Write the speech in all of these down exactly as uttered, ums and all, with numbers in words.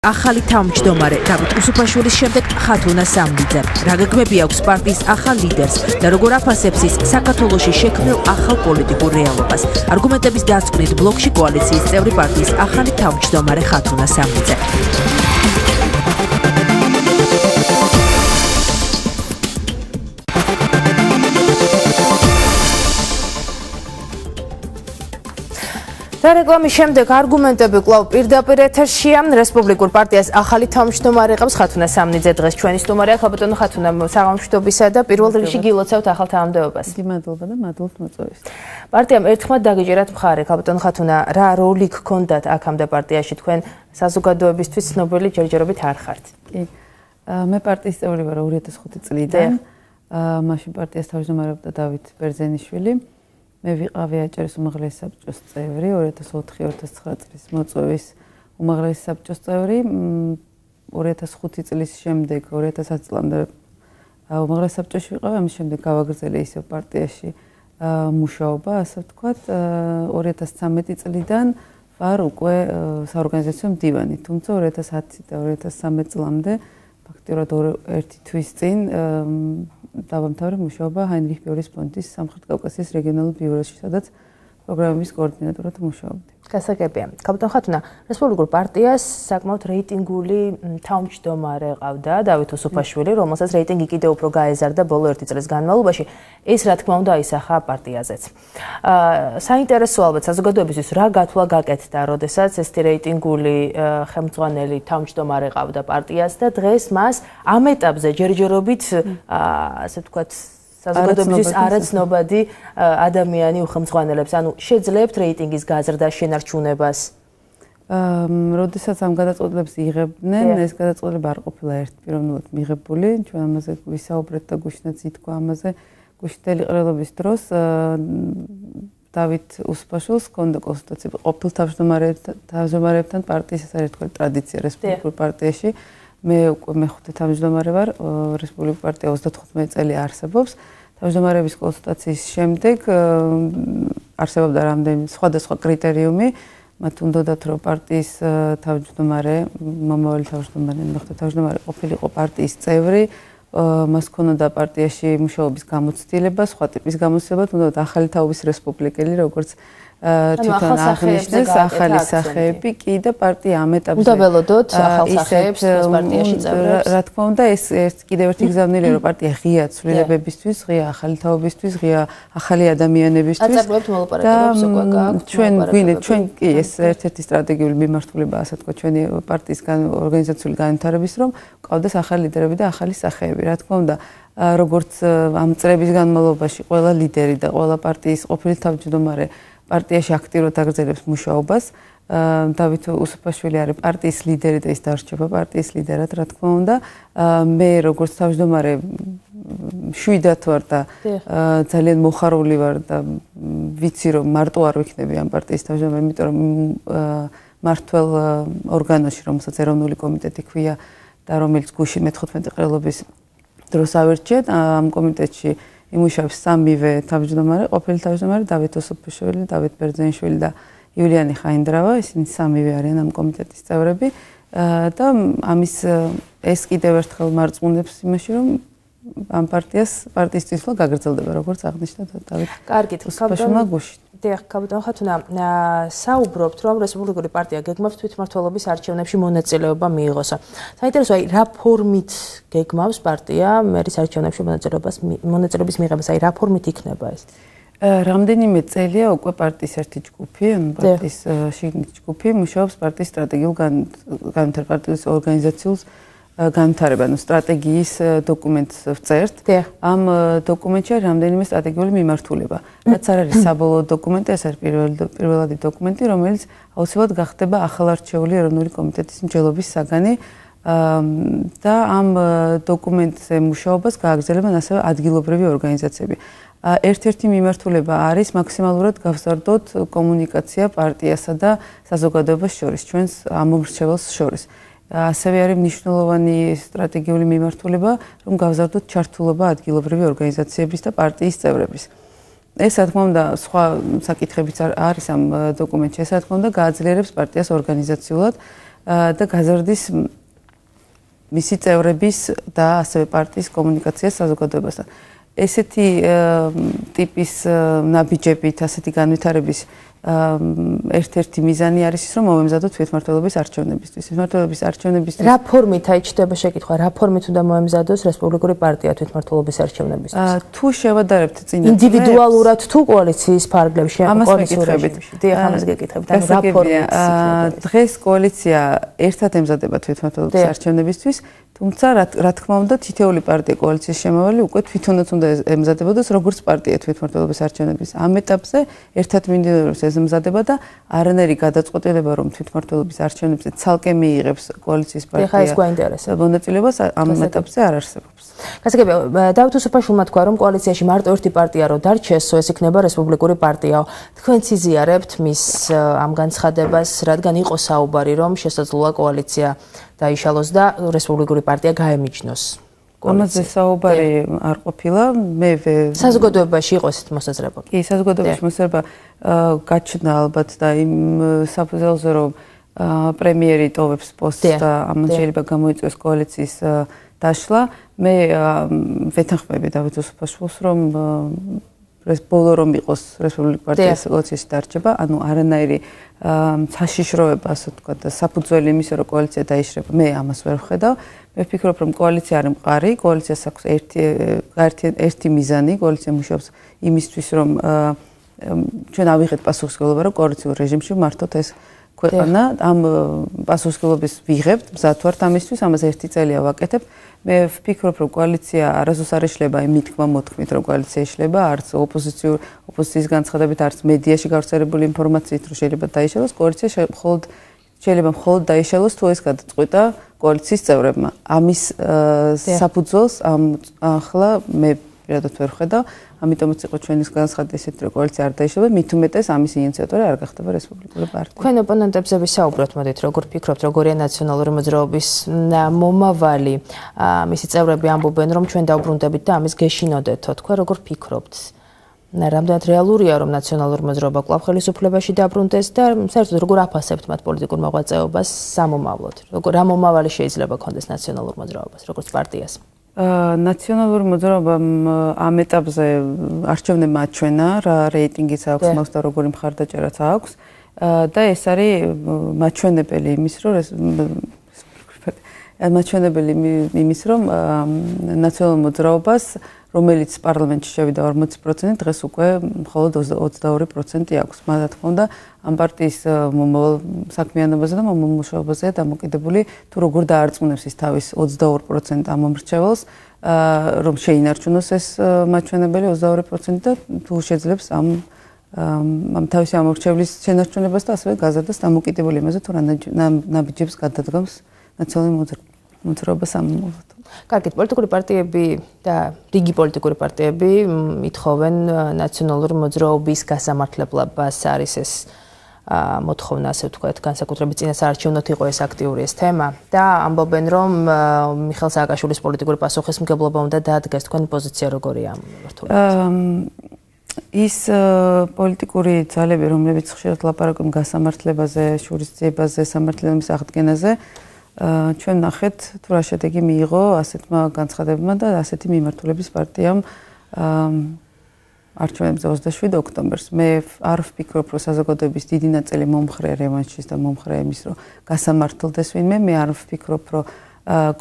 ახალი თავმჯდომარე დავით უსუფაშვილის შემდეგ ხათუნა სამნიძე. რა გეგმები აქვს პარტიის ახალ ლიდერს და როგორ აფასებს ის საქართველოში შექმნილ ახალ პოლიტიკურ რეალობას. არგუმენტების დასკვნით ბლოკში კოალიციის წევრი პარტიის ახალი თავმჯდომარე ხათუნა სამნიძე. და რეკლამის შემდეგ არგუმენტები კვლავ პირდაპირ ეთერშია. რესპუბლიკურ პარტიას ახალი თავმჯდომარე ყავს ხათუნა სამნიძე. დღეს ჩვენი სტუმარია ხაბატონო ხათუნა, საღამოშტობისა და პირველ რიგში გილოცავთ ახალ თანამდებობას. დიდი მადლობა და მადლობთ მოწვევის. პარტიამ ერთხმად დაგიჯერათ მხარე, ხაბატონო ხათუნა, რა როლი გქონდათ აქამდე პარტიაში, თქვენ საზოგადოებისთვის ცნობილი ჯერჯერობით არ ხართ? კი. მე პარტიის წევრი ვარ ორი ათას ხუთი წლიდან. მაშინ პარტიას თავმჯდომარეობდა დავით ბერძენიშვილი. მე ვიყავი აჭარის უმაღლესი საბჭოს წევრი, ორი ათას ოთხი ორი ათას ცხრა წლის მოწვევის უმაღლესი საბჭოს წევრი. ორი ათას ხუთი წლის შემდეგ ორი ათას ათი წლამდე უმაღლეს საბჭოში ვიყავი, ამის შემდეგ გავაგრძელე ისევ პარტიაში მუშაობა, ასე ვთქვათ. ორი ათას ცამეტი წლიდან ვარ უკვე საორგანიზაციო მდივანი, თუმცა ორი ათას ათი და ორი ათას ცამეტი წლამდე ფაქტიურად ერთი თვის წინ დავამთავრე მუშაობა ჰაინრიხ ბიორის ფონდის სამხრეთ კავკასიის რეგიონალურ ბიუროში, სადაც პროგრამების კოორდინატორად მუშაობდი. გასაგებია. ხაბატონო ხათუნა, რესპუბლიკურ პარტიას საკმაოდ რეიტინგული თავმჯდომარე ყავდა დავით უსუფაშვილი, რომელსაც რეიტინგი კიდევ უფრო გაეზარდა ბოლო ერთი წლის განმავლობაში. ეს რა თქმა უნდა აისახა პარტიაზეც. საინტერესო ალბათ საზოგადოებისთვის რა გათვლა გაკეთდა, როდესაც ესეთი რეიტინგული ხელმძღვანელი თავმჯდომარე ყავდა პარტიას და დღეს მას ამ ეტაპზე ჯერჯერობით ასე ვთქვათ საზოგადოებისთვის არაცნობადი ადამიანი უხელმძღვანელებს, ანუ შეძლებთ რეიტინგის გაზრდა შენარჩუნებას? როდესაც ამ გადაწყვეტილებას იღებდნენ, ეს გადაწყვეტილება არ ყოფილა ერთპიროვნულად მიღებული, ჩვენ ამაზე ვისაუბრეთ და გუშინაც ითქვა ამაზე გუშინდელი ყრილობის დროს. დავით უსუფაშვილს ჰქონდა კონსულტაცია ყოფილ თავმჯდომარეებთან პარტიის, ეს არის თქვენ ტრადიცია რესპუბლიკურ პარტიაში. მე უკვე მეხუთე თავმჯდომარე ვარ, რესპუბლიკურ პარტია ოცდათხუთმეტი წელი არსებობს. თავმჯდომარეების კონსულტაციის შემდეგ არსებობდა რამდენი სხვადასხვა კრიტერიუმი, მათ უნდათ რომ პარტიის თავმჯდომარე, მომავალი თავმჯდომარე, მეხუთე თავმჯდომარე ყოფილიყო პარტიის წევრი, მას ჰქონდა პარტიაში მუშაობის გამოცდილება, სხვა ტიპის გამოცდილება, თუნდაც ახალი თაობის რესპუბლიკელი, როგორც თვითონ აღნიშნეს ახალი სახეები კი და პარტია ამ ეტაპზე უნდა ველოდოთ ახალ სახეებს პარტიაში წევრებს. რა თქმა უნდა, ეს ეს კიდევ ერთი გზავნილია, რომ პარტია ღია ცვლილებებისთვის, ღია ახალი თაობისთვის, ღია ახალი ადამიანებისთვის. აწარმოებთ მოლაპარაკებებს უკვე გააქვთ. ჩვენ გვინდათ, ჩვენ კი ეს ერთ-ერთი სტრატეგიული მიმართულება, ასე თქვა, ჩვენი პარტიის ორგანიზაციული განვითარების, რომ ყავდეს ახალი ლიდერები და ახალი სახეები. რა თქმა უნდა, როგორც ამ წლების განმავლობაში ყველა ლიდერი და ყველა პარტიის ყოფილი თავმჯდომარე პარტიაში აქტიურად აგრძელებს მუშაობას. დავით უსუფაშვილი არის პარტიის ლიდერი და ის დარჩება პარტიის ლიდერად, რა თქმა უნდა. მე როგორც თავმჯდომარე შვიდად ვარ და ძალიან მოხარული ვარ და ვიცი რომ მარტო არ ვიქნები ამ პარტიის თავმჯდომარე, იმიტომ რომ მართველ ორგანოში, რომელსაც ეროვნული კომიტეტი ქვია და რომელიც გუშინ მეთხუთმეტი ყრილობის დროს ავირჩიეთ, ამ კომიტეტში იმუშავებს სამივე თავმჯდომარე, ყოფილი თავმჯდომარე დავით უსუფაშვილი, დავით ბერძენიშვილი და იულიანი ხაინდრავა, ისინი სამივე არიან ამ კომიტეტის წევრები და ამის ეს კიდევ ერთხელ მარწმუნებს იმაში, რომ ამ პარტიას პარტიის წინსვლა გაგრძელდება, როგორც აღნიშნა დავით. კარგით, უსუფაშვილმა გუშინ. დიახ, ხაბატონო ხათუნა, საუბრობთ, რომ რესპუბლიკური პარტია გეგმავს თვითმმართველობის არჩევნებში მონაწილეობა მიიღოს. საინტერესოა, აი რა ფორმით გეგმავს პარტია მერის არჩევნებში მონაწილეობას მონაწილეობის მიღებას, აი რა ფორმით იქნება ეს? რამდენიმე წელია უკვე პარტიის ერთი ჯგუფი, ანუ პარტიის შიგნით ჯგუფი მუშაობს პარტიის სტრატეგიულ განვითარებულ პარტიის ორგანიზაციულ განვითარება, ანუ სტრატეგიის დოკუმენტს ვწერთ. ამ დოკუმენტში არის რამდენიმე სტრატეგიული მიმართულება. რაც არ არის საბოლოო დოკუმენტი, ეს არის პირველადი დოკუმენტი, რომელიც აუცილებლად გახდება ახალარჩეული ეროვნული კომიტეტის მსჯელობის საგანი და ამ დოკუმენტზე მუშაობას გააგრძელებენ ასევე ადგილობრივი ორგანიზაციები. ერთ-ერთი მიმართულება არის მაქსიმალურად გავზარდოთ კომუნიკაცია პარტიასა და საზოგადოებას შორის, ჩვენს ამომრჩეველს შორის. ასევე არის მნიშვნელოვანი სტრატეგიული მიმართულება, რომ გავზარდოთ ჩართულობა ადგილობრივი ორგანიზაციების და პარტიის წევრების. ეს რა თქმა უნდა სხვა საკითხებიც არის ამ დოკუმენტში, ეს რა თქმა უნდა გააძლიერებს პარტიას ორგანიზაციულად და გაზრდის მისი წევრების და ასევე პარტიის კომუნიკაციას საზოგადოებასთან. ესეთი ტიპის ნაბიჯებით, ასეთი განვითარების ერთ-ერთი მიზანი არის ის, რომ მომემზადოთ თვითმმართველობის არჩევნებისთვის. თვითმმართველობის არჩევნებისთვის რა ფორმით აიჩნდება შეკითხვა, რა ფორმით უნდა მოემზადოს რესპუბლიკური პარტია თვითმმართველობის არჩევნებისთვის? თუ შევადარებთ წინა ინდივიდუალურად თუ კოალიციის ფარგლებში, კოალიციური დიახ, ამას გეკითხებით. ანუ რა ფორმით? დღეს კოალიცია ერთად ემზადება თვითმმართველობის არჩევნებისთვის, თუმცა რა თქმა უნდა თითოეული პარტია კოალიციის შემავალი უკვე თვითონაც უნდა ემზადებოდეს როგორც პარტია თვითმმართველობის არჩევნების. ამ ეტაპზე ერთად მიმდინარეობს ემზადება და არანაირი გადაწყვეტილება რომ თვითმმართველობის არჩევნებზე ცალკე მიიღებს კოალიციის პარტია მონაწილეობას ამ ეტაპზე არ არსებობს. გასაგებია, დავით უსუფაშვილმა თქვა რომ კოალიციაში მარტო ერთი პარტია რო დარჩეს, ეს იქნება რესპუბლიკური პარტიაო. თქვენ იზიარებთ მის ამ განცხადებას, რადგან იყო საუბარი რომ შესაძლოა კოალიცია დაიშალოს და რესპუბლიკური პარტია გაემიჯნოს. ამაზე საუბარი არ ყოფილა. მე საზოგადოებაში იყო ესეთ მოსაზრება. კი, საზოგადოებაში მოსაზრება გაჩნდა ალბათ და იმ საფუძველზე რომ პრემიერი ტოვებს პოსტს და ამან შეიძლება გამოიწვიოს კოალიციის დაშლა. მე ვეთანხმები დავით უსუფაშვილს რომ ბოლო რომ იყოს რესპუბლიკური პარტიის კოალიციაში დარჩება, ანუ არანაირი საშიშროება, ასე ვთქვათ, საფუძველი იმისა, რომ კოალიცია დაიშრება, მე ამას ვერ ვხედავ. მე ვფიქრობ, რომ კოალიცია არის მყარი, კოალიციას აქვს ერთი ერთი მიზანი, კოალიცია მუშაობს იმისთვის, რომ ჩვენ ავიღეთ პასუხისმგებლობა, რომ კოალიციურ რეჟიმში მართოთ ეს ქვეყანა, ამ პასუხისმგებლობის ვიღებთ, მზად ვართ ამისთვის, ამაზე ერთი წელია ვაკეთებ. მე ვფიქრობ, რომ კოალიცია არასდროს არ იშლება იმ მითქმა მოთქმით, რომ კოალიცია იშლება, არც ოპოზიციურ ოპოზიციის განცხადებით, არც მედიაში გავრცელებული ინფორმაციით, რომ შეიძლება დაიშალოს, კოალიცია მხოლოდ შეიძლება მხოლოდ დაიშალოს, თუ ეს გადაწყვეტა კოალიციის წევრებმა. ამის საფუძველს ამ ახლა მე პირადად ვერ ვხედავ, ამიტომაც იყო ჩვენის განცხადი ესეთი, რომ კოალიცია არ დაიშალა, მით უმეტეს ამის ინიციატორი არ გახდება რესპუბლიკური პარტია. თქვენ ოპონენტებზე ვისაუბროთ, მოდით, როგორ ფიქრობთ, როგორია ნაციონალური მოძრაობის მომავალი? მისი წევრები ამბობენ, რომ ჩვენ დავბრუნდებით და ამის გეშინოდეთო. თქვენ როგორ ფიქრობთ? რამდენად რეალურია, რომ ნაციონალური მოძრაობა კვლავ ხელისუფლებაში დაბრუნდეს და საერთოდ როგორ აფასებთ მათ პოლიტიკურ მოღვაწეობას სამომავლოდ? როგორ რა მომავალი შეიძლება ქონდეს ნაციონალურ მოძრაობას, როგორც პარტიას? ნაციონალური მოძრაობამ ამ ეტაპზე არჩევნებმა აჩვენა, რა რეიტინგიც აქვს მას და როგორი მხარდაჭერაც აქვს და ეს არის მაჩვენებელი იმის, რომ მაჩვენებელი იმის, რომ ნაციონალურ მოძრაობას რომელიც პარლამენტში შევიდა ორმოცი პროცენტი, დღეს უკვე მხოლოდ ოცდაორი პროცენტი აქვს. რა თქმა უნდა, ამ პარტიის მომავალ საქმიანობაზე და მომუშავებაზეა დამოკიდებული, თუ როგორ დაარწმუნებს ის თავის ოცდაორ პროცენტ ამომრჩეველს, რომ შეინარჩუნოს ეს მაჩვენებელი ოცდაორი პროცენტი და თუ შეძლებს ამ ამ თავისი ამორჩევლის შენარჩუნებას და ასევე გაზრდას დამოკიდებული იმაზე, თუ რა ნაბიჯებს გადადგამს ნაციონალური მოძრაობა სამომავლოდ. კარგით, პოლიტიკური პარტიები და რიგი პოლიტიკური პარტიები ითხოვენ ნაციონალური მოძრაობის გასამართლებლობას, არის ეს მოთხოვნა, ასე ვთქვათ, განსაკუთრებით წინასაარჩევნოდ იყო ეს აქტიური ეს თემა და ამბობენ, რომ მიხეილ სააკაშვილის პოლიტიკური პასუხისმგებლობა უნდა დაადგეს. თქვენი პოზიცია როგორია ამ მიმართულებით? ის პოლიტიკური ძალები, რომლებიც ხშირად ლაპარაკობენ გასამართლებაზე, შურისძიებაზე, სამართლიანობის აღდგენაზე, ჩვენ ნახეთ თუ რა შედეგი მიიღო ასეთმა განცხადებებმა და ასეთი მიმართულების პარტიამ არჩევნებზე ოცდაშვიდი ოქტომბერს. მე არ ვფიქრობ, რომ საზოგადოების დიდი ნაწილი მომხრე რევანშის და მომხრე იმის, რომ გასამართლდეს ვინმე. მე არ ვფიქრობ, რომ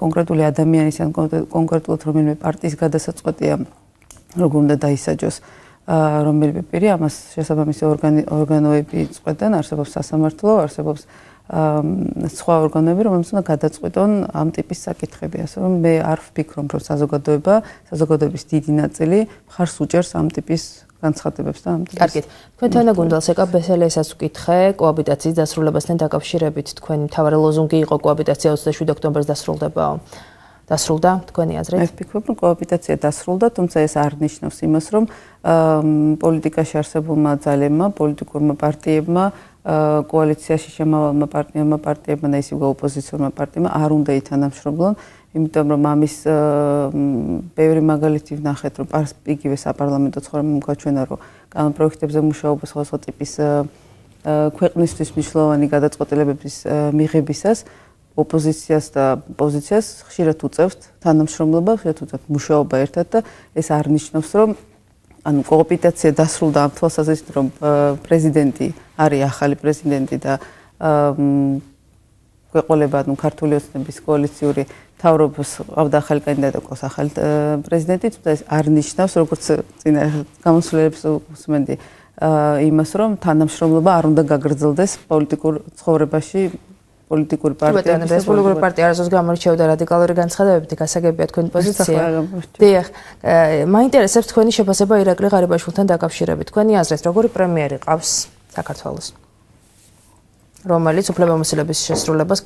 კონკრეტული ადამიანის ან კონკრეტულად რომელიმე პარტიის გადასაწყვეტია, როგორ უნდა დაისაჯოს რომელიმე პირი, ამას შესაბამისი ორგანოები წყვეტენ, არსებობს სასამართლო, არსებობს სხვა ორგანოები, რომელსაც უნდა გადაწყვეტონ ამ ტიპის საკითხები. ასე რომ მე არ ვფიქრობ, რომ საზოგადოება, საზოგადოების დიდი ნაწილი მხარს უჭერს ამ ტიპის განცხადებებს და ამ ტიპის. კარგით. თქვენ თანა გუნდელს ეკა ბესელესაც ვკითხე კოაბიტაციის დასრულებასთან დაკავშირებით. თქვენი მთავარი ლოზუნგი იყო კოაბიტაცია ოცდაშვიდი ოქტომბერს დასრულდებაო. დასრულდა თქვენი აზრით? მე ვფიქრობ, რომ კოაბიტაცია დასრულდა, თუმცა ეს არ ნიშნავს იმას, რომ პოლიტიკაში არსებულმა ძალებმა, პოლიტიკურმა პარტიებმა კოალიციაში შემავალმა პარტიებმა, პარტიებმა და ისევ ოპოზიციურმა პარტიებმა არ უნდა ითანამშრომლონ, იმიტომ რომ ამის ბევრი მაგალითი ვნახეთ, რომ იგივე საპარლამენტო ცხოვრებამ გაჩვენა, რომ კანონპროექტებზე მუშაობა სხვადასხვა ტიპის ქვეყნისთვის მნიშვნელოვანი გადაწყვეტილებების მიღებისას ოპოზიციას და პოზიციას ხშირად უწევთ თანამშრომლობა, ხშირად უწევთ მუშაობა ერთად და ეს არ ნიშნავს, რომ ანუ კოოპერაცია დასრულდა ამ თვალსაზრისით, რომ პრეზიდენტი არის ახალი პრეზიდენტი და ქვეყნებად ნუ ქართული ოცნების კოალიციური თავრობის ყავდა ახალი კანდიდატი ყავს ახალი პრეზიდენტი, თუმცა ეს არ ნიშნავს, როგორც წინა გამოსვლებს უსმენდი იმას, რომ თანამშრომლობა არ უნდა გაგრძელდეს პოლიტიკურ ცხოვრებაში პოლიტიკური პარტიების რესპუბლიკური პარტია არასდროს გამორჩეოდა რადიკალური განცხადებებით, გასაგებია თქვენი პოზიცია. დიახ, მაინტერესებს თქვენი შეფასება ირაკლი ღარიბაშვილთან დაკავშირებით. თქვენი აზრით, როგორი პრემიერი ყავს საქართველოს, რომელიც უფლებამოსილების შესრულებას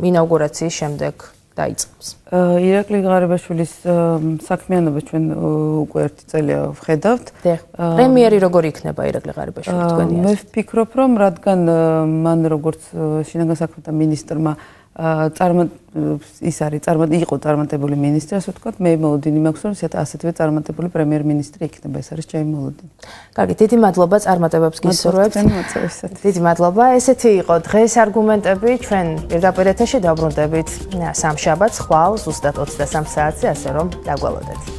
ინაუგურაციის შემდეგ დაიწყებს? ირაკლი ღარიბაშვილის საქმიანობა ჩვენ უკვე ერთი წელია ვხედავთ. დიახ, პრემიერი როგორი იქნება ირაკლი ღარიბაშვილი თქვენი აზრით? მე ვფიქრობ, რომ რადგან მან როგორც შინაგან საქმეთა მინისტრმა წარმო ის არის წარმო იყო წარმატებული მინისტრი, ასე ვთქვათ, მე მოლოდინი მაქვს, რომ ასეთვე წარმატებული პრემიერ-მინისტრი იქნება, ეს არის ჩემი მოლოდინი. კარგი, დიდი მადლობა წარმატებებს გისურვებთ. დიდი მადლობა. ესეთი იყო დღეს არგუმენტები, ჩვენ პირდაპირ ეთერში დავბრუნდებით სამშაბათს, ხვალ ზუსტად ოცდასამ საათზე, ასე რომ დაგვალოდეთ.